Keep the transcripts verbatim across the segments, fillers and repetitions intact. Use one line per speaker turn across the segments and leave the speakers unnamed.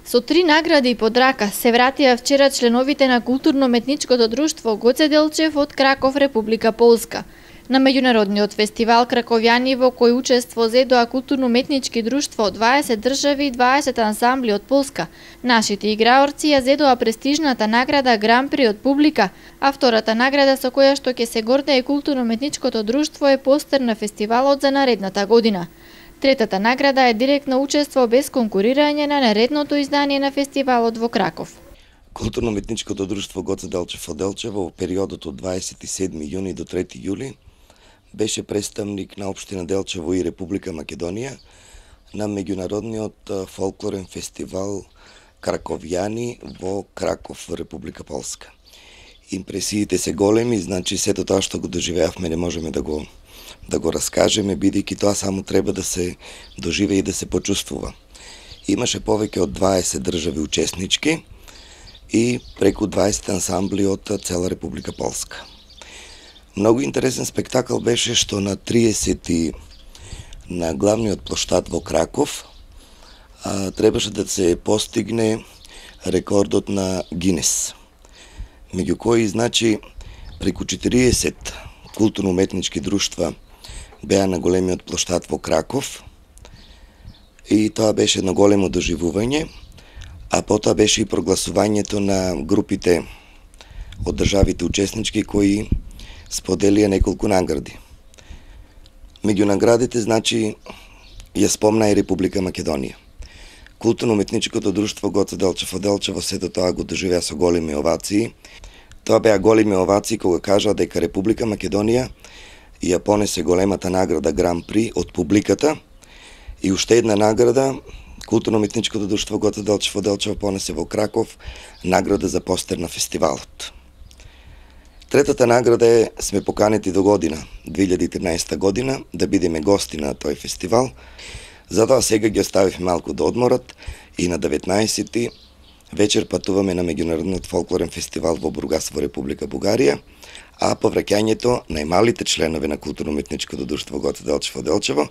Со три награди под рака се вратија вчера членовите на културно-уметничкото друштво Гоце Делчев од Краков, Република Полска. На меѓународниот фестивал Краковјани во кој учество зедоа културно-уметнички друштво од дваесет држави и дваесет ансамбли од Полска. Нашите играорци ја зедоа престижната награда Гран При од публика, а втората награда со која што ќе се гордее културно-уметничкото друштво е постер на фестивалот за наредната година. Третата награда е директно учество без конкурирање на наредното издание на фестивалот во Краков.
Културно-уметничкото друштво Гоце Делчев од Делчево во периодот од дваесет и седми јуни до трети јули беше представник на општина Делчево и Република Македонија на меѓународниот фолклорен фестивал Краковјани во Краков, Република Полска. Импресиите се големи, значи сето тоа што го доживеавме не можеме да го да го раскажеме, бидејќи тоа само треба да се доживее и да се почувствува. Имаше повеќе од дваесет држави учеснички и преку дваесет ансамбли од цела Република Полска. Многу интересен спектакл беше што на триесети на главниот плоштад во Краков а, требаше да се постигне рекордот на Гинес, меѓу кои, значи, преку четириесет културно-уметнички друштва беа на големиот плоштад во Краков и тоа беше едно големо доживување, а потоа беше и прогласувањето на групите од државите учеснички кои споделија неколку награди. Меѓу наградите, значи, ја спомна и Република Македонија. Културно-уметничкото друштво Гоце Делчев од Делчево сето тоа го доживеа со големи овации. Тоа беа големи овации кога кажаа дека Република Македонија ја понесе големата награда Гран При од публиката и уште една награда Културно-уметничкото друштво Гоце Делчев од Делчево понесе во Краков награда за постер на фестивалот. Третата награда е сме поканети до година, две илјади и тринаесетта година, да бидеме гости на тој фестивал. Затоа сега ги оставивме малку да одморат и на деветнаесети вечер патуваме на меѓународниот фолклорен фестивал во Бургас во Република Бугарија, а по враќањето најмалите членови на културно-уметничкото друштво Гоце Делчев од Делчево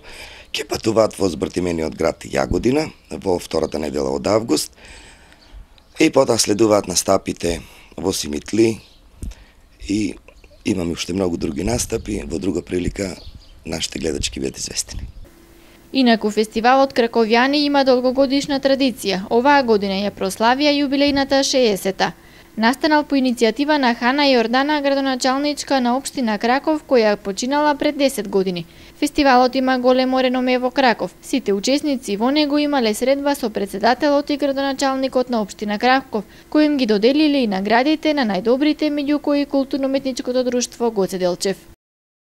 ќе патуваат во збртимениот град Јагодина во втората недела од август и потоа следуваат настапите во Симитли и имаме уште многу други настапи. Во друга прилика нашите гледачки бидат известени.
Инаку фестивалот Краковјани има долгогодишна традиција. Оваа година ја прославија јубилејната шеесета. Настанал по иницијатива на Хана Јордана, градоначалничка на општина Краков, која починала пред десет години. Фестивалот има големо реноме во Краков. Сите учесници во него имале средба со председателот и градоначалникот на општина Краков, кои им ги доделиле и наградите на најдобрите, меѓу кои културно-уметничкото друштво Гоце Делчев.